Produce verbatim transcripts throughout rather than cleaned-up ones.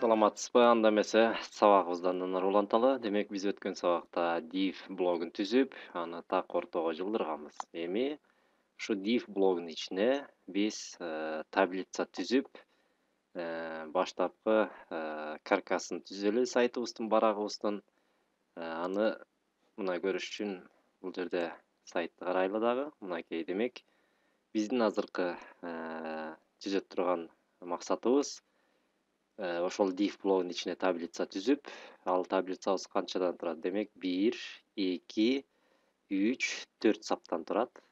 Саламатсызбы? Анда эмесе сабагыбыздан уланталы. Демек биз өткөн сабакта div блогун түзүп, аны так ортого жылдырганбыз. Эми ушу div блогунун ичине биз э, таблица түзүп, э, баштапкы э, каркасын түзөлү сайтыбыздын, барагыбыздын. Э, Аны мына көрүш үчүн бул жерде сайтты карайлы дагы. Мынакей демек биздин азыркы э, түзө турган максатыбыз Э, ошол div блогунун ичине таблица түзүп, ал таблицабыз канчадан турат? Демек бир, эки, үч, төрт саптан турат.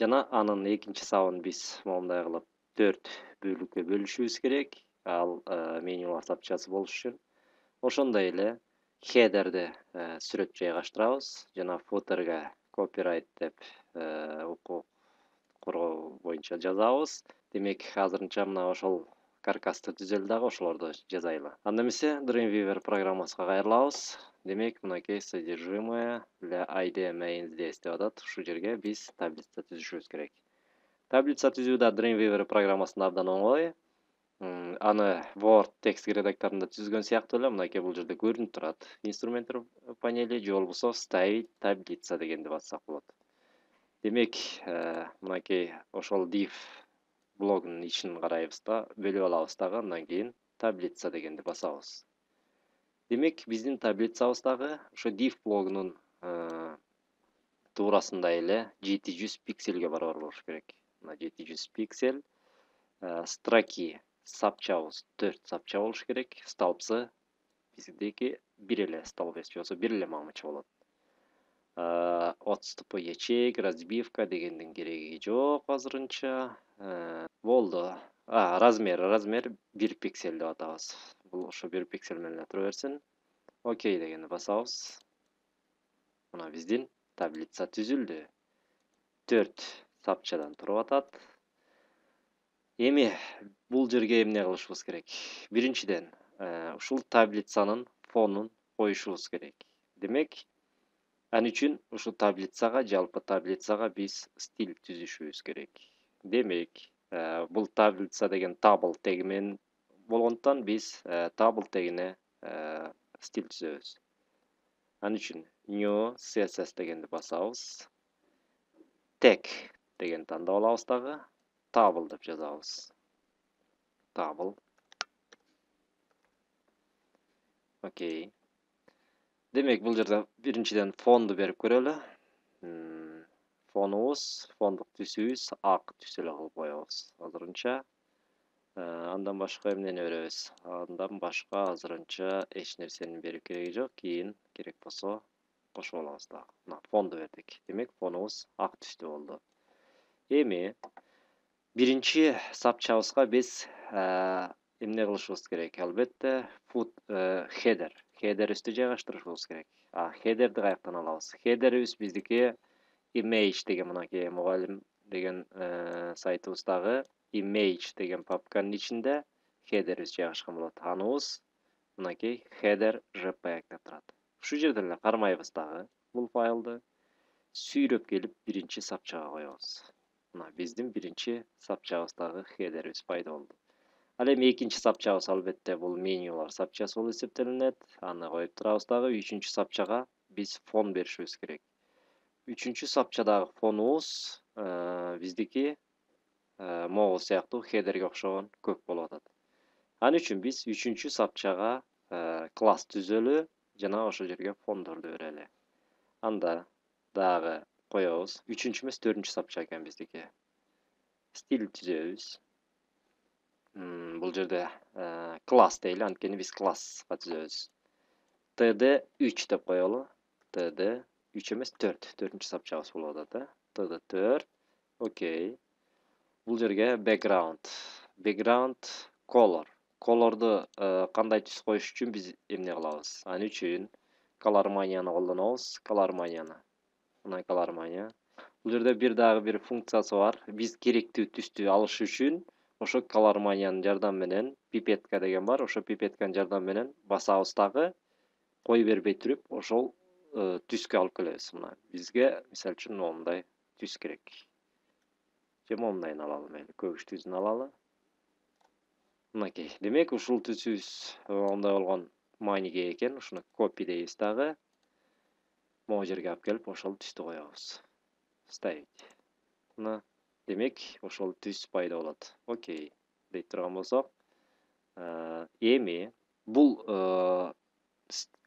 Жана анын экинчи сабын биз моундай кылып төрт бөлүккө бөлүшүбүз керек. Ал э, менюлар сапчасы болуш үчүн. Ошондой эле хедерди э, сүрөт жайгаштырабыз жана футерге копирайт деп э, укук коргоо боюнча жазабыз. Демек азырынча мына ошол каркасты түзөлү дагы ошолорду жазайлы. Анда эмесе Dreamweaver программасына кайрылабыз. Демек мынакей содержимое для ай ди main здесь деп атат. Ушул жерге биз таблица түзүшүбүз керек. Таблица түзүү да Dreamweaver программасында абдан оңой. М, Аны Word текст редакторунда түзгөн сыяктуу эле мынакей бул жерде көрүнүп турат. Инструменттер панели же болбосо вставить таблица дегенди бассак болот. Демек, э, мынакей ошол div блогунун ичин карайбыз да, бөлүп алабыз дагы, андан кийин таблица дегенди басабыз. Демек, биздин таблицабыз дагы ошо div блогунун э, туурасында эле жети жүз пикселге барабар болуш керек. Мына жети жүз пиксель. Э, Строки сапчабыз төрт сапча болуш керек. Столбцы биздики бир эле столб же болбосо бир эле мамыча болот. Э, Отступы ячеек, разбивка дегендин кереги жок азырынча. Э, Болду. А, размер, размер бир пиксель деп атабыз. Бул ошо бир пиксель менен эле тура берсин. Окей дегенди басабыз. Мына биздин таблица түзүлдү. төрт сапчадан туруп атат. Эми бул жерге эмне кылышыбыз керек? Биринчиден, э, ушул таблицанын фонун коюшубуз керек. Демек, ал үчүн ушул таблицага, жалпы таблицага биз стиль түзүшүбүз керек. Демек, э, бул таблица деген табл теги менен болгондуктан биз э, табл тегине э, стиль түзөбүз. Ал үчүн new C S S дегенди басабыз. Tag дегенди тандап алабыз дагы. Табл деп жазабыз. Табл. Окей. Демек, бул жерде биринчиден фонду берип көрөлү. М, Фонубуз, фондук түсүбүз ак түс эле кылып коебуз азырынча. Э, Андан башка эмнени беребиз? Андан башка азырынча эч нерсенин берип кереги жок. Кийин керек болсо кошуп алабыз дагы. Мына фонду бердик. Демек, фонубуз ак түстүү болду. Эми биринчи сапчабызга биз э, эмне кылышыбыз керек? Албетте, foot header. Хедерибизди жайгаштырышыбыз керек. А хедерди каяктан алабыз? Хедерибиз биздики image деген мынакей мугалим деген э, сайтыбыздагы image деген папканын ичинде хедерибиз жайгашкан болот. Аныбыз мынакей header jpeg деп турат. Ушул жерден эле кармайбыз дагы бул файлды. Сүйрөп келип биринчи сапчага коебуз. Мына биздин биринчи сапчабыздагы хедерибиз пайда болду. Ал эми экинчи сапчабыз албетте бул менюлар сапчасы болуп эсептелинет. Аны коюп турабыз дагы. Үчүнчү сапчага биз фон беришибиз керек. Үчүнчү сапчадагы фонубуз э, биздики э, могул сыяктуу хедерге окшогон көк болуп атат. Ал үчүн биз үчүнчү сапчага э, класс түзөлү жана ошол жерге фондорду берели. Анда дагы коебуз. Үчүнчү эмес, төртүнчү сапча экен биздики. Стиль түзөбүз. М, Бул жерде э, класс дейли, анткени биз класска түзөбүз. T D үч деп коелу. T D үч эмес, төрт. төртүнчү сапчабыз болуп атат, э? T D төрт. Окей. Бул жерге background. Background color. Колорду э, кандай түс коюш үчүн биз эмне кылабыз? Ал үчүн colormania'ны колдонобуз. Colormania'ны. Мына colormania. Бул жерде бир дагы бир функциясы бар. Биз керектүү түстү алыш үчүн ошо colormania'нын жардамы менен пипетка деген бар. Ошо пипетканын жардамы менен басабыз дагы кой бербей туруп ошол э, түскө алып келебиз. Мына бизге мисалы үчүн моундай түс керек. Же моундайын алалы, мейли, көгүштүүсүн алалы. Мынакей. Демек, ушул түсүбүз ондай болгон мааниге экен. Ушуну copy дейбиз дагы. Могу жерге алып келип, ошол түстү коебуз. Ставить. Мына, демек, ошол түс пайда болот. Окей. Дейт турган болсок, эми бул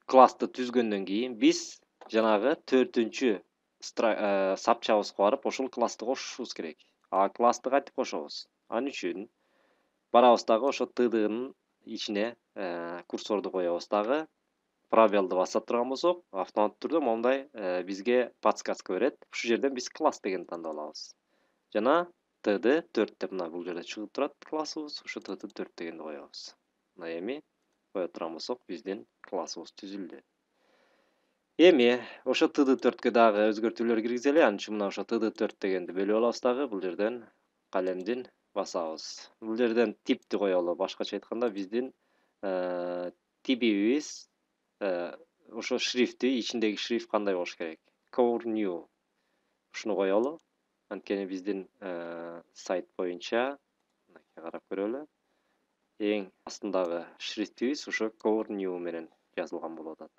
классты түзгөндөн кийин биз жанагы төртүнчү сапчабызга барып, ошол классты кошушубуз керек. А классты кантип кошобуз? Ал үчүн барабыз дагы ошо тднын ичине курсорду коебуз дагы. Пробелди басат турган болсок, автоматтык түрдө мондай бизге подсказка берет. Ушул жерден биз класс дегенди тандап алабыз. Жана td төрт деп мына бул жерде чыгып турат классыбыз. Ошо td төрт дегенди коебуз. Мына эми кое турган болсок, биздин классыбыз түзүлдү. Эми ошо td төрткө дагы өзгөртүүлөр киргизели. Ал үчүн мына ошо td төрт дегенди бөлүп алабыз дагы. Бул жерден калемдин басабыз. Бул жерден типти коелу. Башкача айтканда, биздин типибиз ошо шрифти, ичиндеги шрифт кандай болуш керек? Core new. Ушуну коелу. Анткени биздин сайт боюнча, мынакей карап көрөлү. Эң астындагы шрифтибиз ошо Core new менен жазылган болуп атат.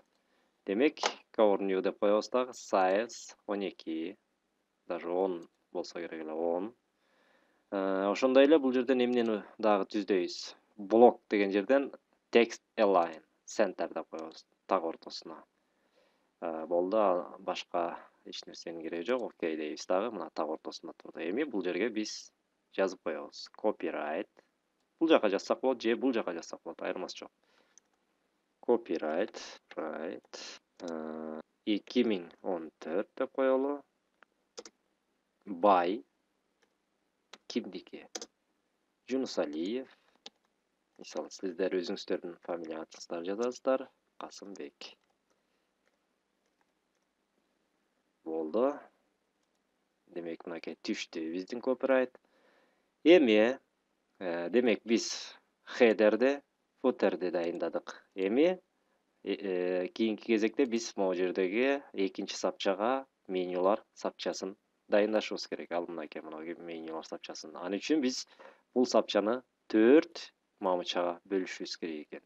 Демек, Core new деп коебуз дагы. Size он эки, даже он болсо керек эле, он. Ошондой эле бул жерден эмнени дагы түздөйбүз? Block деген жерден text align, center деп коебуз, так ортосуна. Болду, башка эч нерсенин кереги жок. Окей дейбиз дагы. Мына так ортосунда турду. Эми бул жерге биз жазып коебуз. Copyright. Бул жака жазсак болот, же бул жака жазсак болот, айырмасы жок. Copyright, right. эки миң он төрт деп коелу. By кимдики? Жунусалиев. Мисалы, сиздер өзүңүздөрдүн фамилияңызды жазасыздар. Касымбек. Болду. Демек, мынакей түштү биздин copyright. Эми, демек, биз header'ди, footer'ди дайындадык. Эми, кийинки кезекте биз могу жердеги экинчи сапчага менюлар сапчасын дайындашыбыз керек. Ал мынакей менюлар сапчасын. Ал үчүн биз бул сапчаны төрт мамычага бөлүшүбүз керек экен.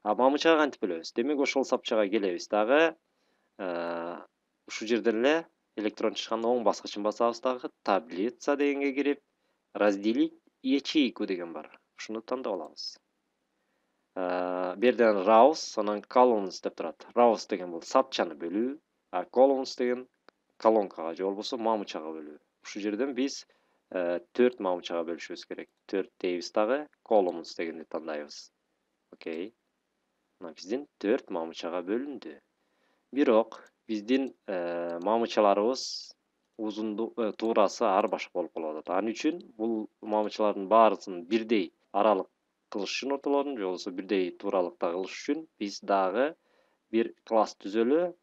А мамычага кантип бөлөбүз? Демек, ошол сапчага келебиз дагы. Ушул жерден эле электрон чычканда оң баскычын басабыз дагы. Таблица дегенге кирип, разделить ячейку деген бар. Ушуну тандап алабыз. Берден rows, анан columns деп турат. Rows деген бул сапчаны бөлүү, а columns деген колонкага же болбосо мамычага бөлүү. Ушул жерден биз төрт мамычага бөлүшүбүз керек. төрт дейбиз дагы, columns дегенди тандайбыз. Окей. Мына биздин төрт мамычага бөлүндү. Бирок биздин мамычаларыбыз узунду туурасы ар башка болуп калып атат. Ал үчүн бул мамычалардын баарысын бирдей аралык кылыш үчүн ортолорун, же болбосо бирдей тууралыкта кылыш үчүн биз дагы бир класс түзөлү.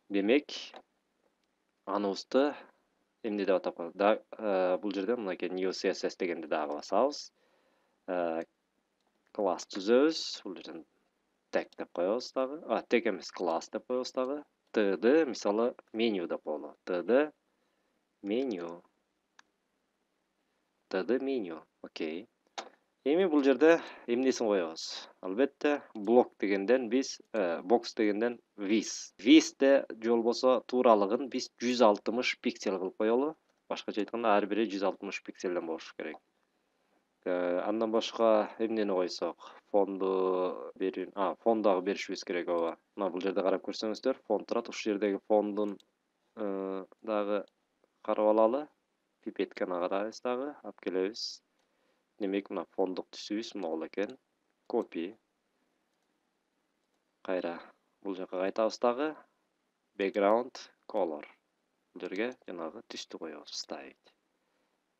Демек, аныбызды эмне деп атап коелу? Бул жерде мынакей new C S S дегенди дагы басабыз. Класс түзөбүз. Бул жерден tag деп коебуз дагы. А, tag эмес, класс деп коебуз дагы. Td, мисалы, меню деп коелу. Td меню. Td меню. Окей. Эми бул жерде эмнесин коебуз? Албетте, блок дегенден биз, box дегенден width. Width'те же болбосо тууралыгын биз жүз алтымыш пиксель кылып коелу. Башкача айтканда, ар бири жүз алтымыш пикселден болуш керек. Андан башка эмнени койсок? Фонду берин, а, фон дагы беришибиз керек ооба. Мына бул жерде карап көрсөңүздөр, фон турат. Ушул жердеги фондун дагы карап алалы. Пипетканы карайбыз дагы, алып келебиз. Демек, мына фондук түсүбүз могул экен. Copy. Кайра бул жака кайтабыз дагы. Background color. Бул жерге жанагы түстү коебуз, ставить.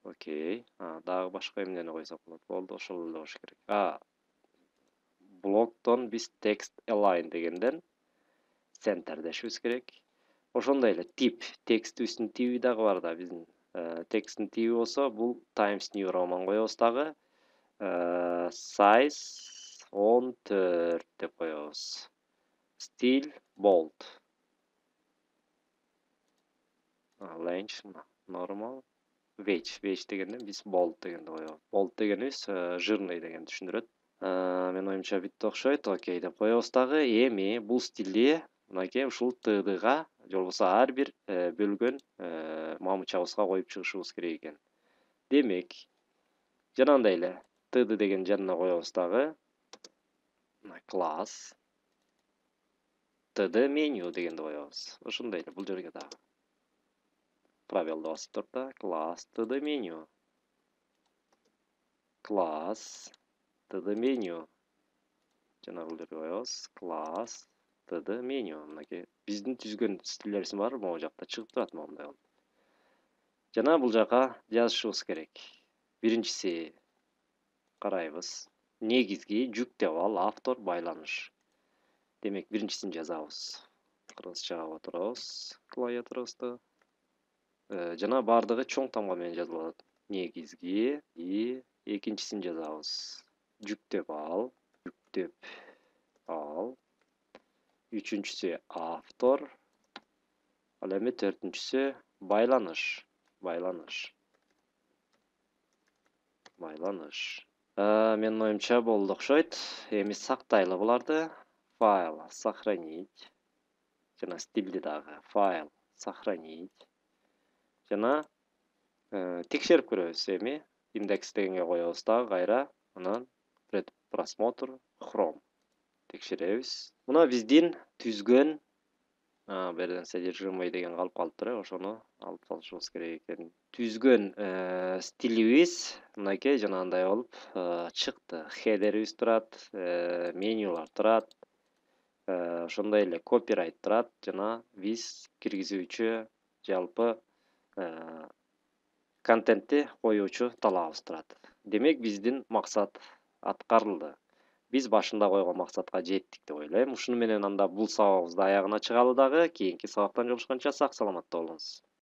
Окей. А, дагы башка эмнени койсок болот? Болду, ошол эле болуш керек. А, блоктон биз text align дегенден center дешибиз керек. Ошондой эле тип, текстибиздин тиби дагы бар да, биздин тексттин тиби болсо, бул Times New Roman коебуз дагы. Size он төрт деп коебуз. Style bold. Length normal. Wedge, wedge дегенде биз bold дегенди коебуз. Bold дегенибиз жирный дегенди түшүндүрөт. Менин оюмча бүттү окшойт. Окей деп коебуз дагы. Эми бул стилди мынакей ушул тдга же болбосо ар бир бөлгөн мамычабызга коюп чыгышыбыз керек экен. Демек, жанагындай эле td деген жанына коебуз дагы. Класс td меню дегенди коебуз. Ошондой эле бул жерге дагы. Пробелди басып туруп да класс td меню. Класс td меню. Жана бул жерге коебуз. Класс td меню. Мынакей биздин түзгөн стилдерибиздин баары могу жакта чыгып турат моундай болуп. Жана бул жака жазышыбыз керек. Биринчиси карайбыз. Негизги жүк деп ал, автор, байланыш. Демек, биринчисин жазабыз. Кыргызчага отурабыз клавиатурабызды. Жана бардыгы чоң тамга менен жазылат. Негизги и экинчисин жазабыз. Жүктөп ал, жүктөп ал. Үчүнчүсү автор. Ал эми төртүнчүсү байланыш. Байланыш. Байланыш. Менин оюмча болду окшойт. Эми сактайлы буларды. Файл сохранить. Жана стилди дагы файл сохранить. Жана текшерип көрөбүз эми. Индекс дегенге коебуз дагы кайра. Анан предпросмотр Chrome. Текшеребиз. Мына биздин түзгөн бул жерден содержимый деген калып калыптыр, ошону алып салышыбыз керек экен. Түзгөн стилибиз мынакей жанагындай болуп чыкты. Хедерибиз турат, менюлар турат. Ошондой эле копирайт турат жана биз киргизүүчү жалпы контентти коюучу талабыбыз турат. Демек, биздин максат аткарылды. Биз башында койгон максатка жеттик деп ойлойм. Ушуну менен анда бул сабагыбызды аягына чыгалы дагы. Кийинки сабактан жолугушканча сак саламатта болуңуз.